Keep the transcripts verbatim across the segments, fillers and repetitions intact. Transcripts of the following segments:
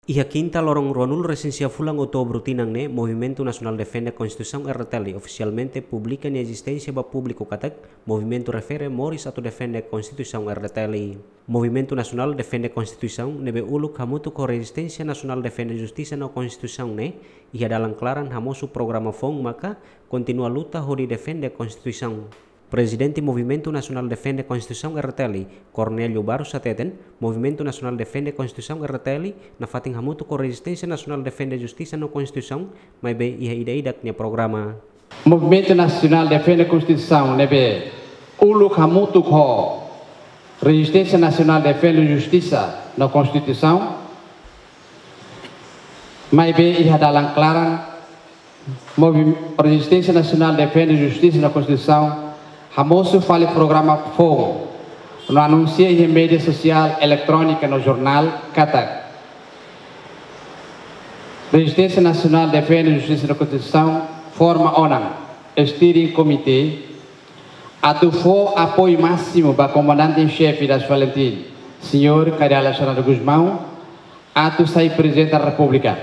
Iha kinta loron ruanulu resin sia fulan outubru tinan ne'e, Movimentu Nasionál Defende Konstituisaun R D T L ofisialmente publika nia ezisténsia ba públiku katak, movimentu refere moris atu defende Konstituisaun R D T L. Movimentu Nasionál Defende Konstituisaun ne'ebé uluk hamutuk ho Rezisténsia Nasionál Defende Justisa no Konstituisaun ne'e, iha dalan klaran hamosu programa foun maka kontinua luta hodi defende Konstituisaun. Prezidente Movimentu Nasionál Defende Konstituisaun R D T L, Cornélio Barros hateten, Movimentu Nasionál Defende Konstituisaun R D T L, nafatin hamutuk ho Rezisténsia Nasionál Defende Justisa no Konstituisaun, maibé iha ida-idak nia programa. Movimentu Nasionál Defende Konstituisaun ne'ebé uluk hamutuk ho Rezisténsia Nasionál Defende Justisa no Konstituisaun, maibé iha dalan klaran, Movi-, Rezisténsia Nasionál Defende Justisa no Konstituisaun hamosu fali programa foun no anunsia iha média sosiál, eletrónika no jornál katak Rezisténsia Nasionál Defende Justisa no Konstituisaun forma ona Steering Committee atu fó apoiu másimu ba Komandante-em-Xefe das FALINTIL, Señór Kay Rala Xanana Gusmão, atu sai Prezidente da Repúblika.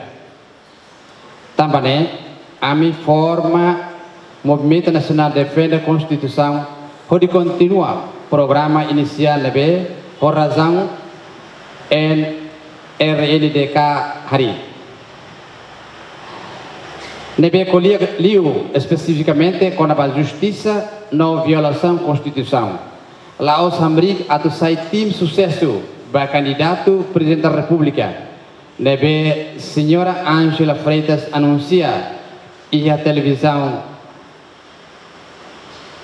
Tanba ne'e, ami forma Movimentu Nasionál Defende Konstituisaun hodi kontinua programa inisiál ne'ebé ho razaun N R N D K harii. Ne'ebé ko'alia liu espesifikamente kona-ba justisa no violasaun Konstituisaun. La'ós hamriik atu sai tim susesu ba kandidatu Prezidente da Repúblika, ne'ebé Señora Ángela Freitas anunsia iha televizaun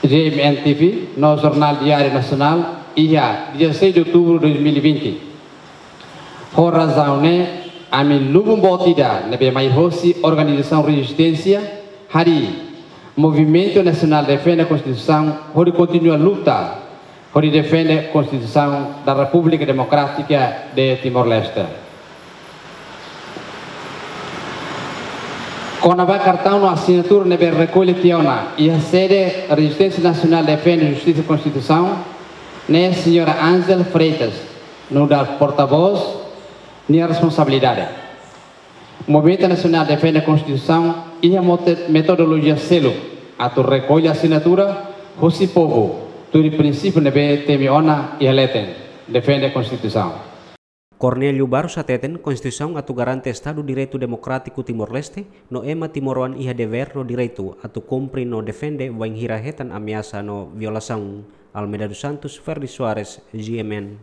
G M N T V no Jornál Diáriu Nasionál iha dezasseis de outubro de dois mil e vinte. Ho razaun ne'e, ami lubun boot ida ne'ebé mai hosi organizasaun rezisténsia harii Movimentu Nasionál Defende Konstituisaun hodi kontinua luta hodi defende Konstituisaun da Repúblika Demokrátika de Timor-Leste. Kona-ba kartaun no asinatura ne'ebé rekolla tiha ona iha sede Rezisténsia Nasionál Defende Justisa Konstituisaun, ne'e Señora Ángela Freitas nu'udar portavós nia responsabilidade. Movimentu Nasionál Defende Konstituisaun iha mote-, metodolojia seluk atu rekolla asinatura hosi povu, tuir prinsípiu ne'ebé temi ona iha leten, defende Konstituisaun. Cornélio Barros hateten, Konstituisaun atu garante Estadu Direitu Demokrátiku Timor-Leste, no ema timoroan iha devér no direitu atu kumpre no defende bainhira hetan ameasa no violasaun. Almeida dos Santos, Ferdi Soares, G M N.